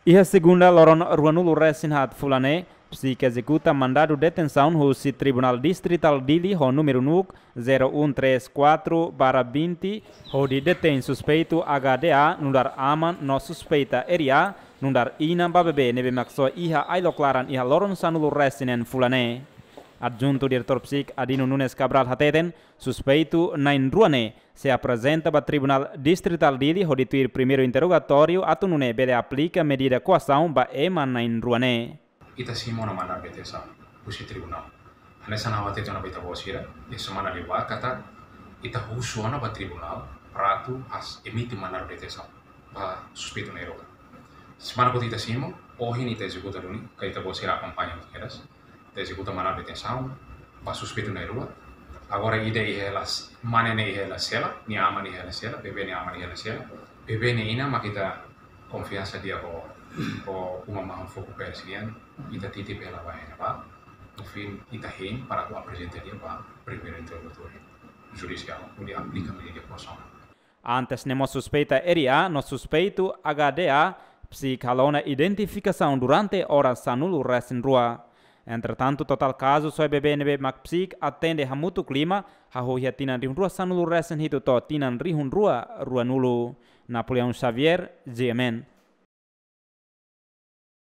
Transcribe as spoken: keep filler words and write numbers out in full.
Iha segunda loron ruanulu resin haat fulan ne'e, psík ezekuta mandadu detensaun husi Tribunál Distritál Dili ho númeru NUC zero um três quatro barra vinte, hodi detein suspeitu H D A nu'udar aman no suspeita R A nu'udar inan ba bebé ne'ebé mak soe iha ailok laran iha loron sanulu resin neen fulan ne'e. Adjuntu Diretór psík Adino Nunes Cabral hateten, suspeitu na'in rua ne'e sei aprezenta ba Tribunál Distritál Dili hodi tuir primeiru interrogatóriu atu nune'e bele aplika medida koasaun ba ema na'in rua ne'e. Ita simu ona mandadu detensaun husi tribunál. Hanesan ha'u hateten ona ba ita-boot sira iha semana liubá katak ita husu ona ba tribunál para atu has emite mandadu detensaun ba suspeitu na'in rua. Semana kotuk ita simu, ohin ita ezekuta duni, katak ita-boot sira akompaña hotu kedas. Ita ezekuta mandadu detensaun ba suspeitu na'in rua. Agora ida iha hela, mane ne'e iha hela sela, nia aman iha hela sela, bebé nia aman iha hela sela. Bebé nia inan mak ita konfiansa di'ak ho, ho uma mahon foku pers nian, ita titip hela ba hela ba. No fim, ita hein para atu aprezenta di'ak ba primeiru interrogatóriu judisiál, hodi aplika medida koasaun. Antes ne'e mós suspeita R A no suspeitu H D A psík halo ona identifikasaun durante oras sanulu resin rua. Entretantu, totál kazu soe bebé ne'ebé mak psík atende hamutuk lima, hahú iha tinan rihun rua sanulu resin hitu to'o tinan rihun rua ruanulu. Napoleão Xavier, G M N.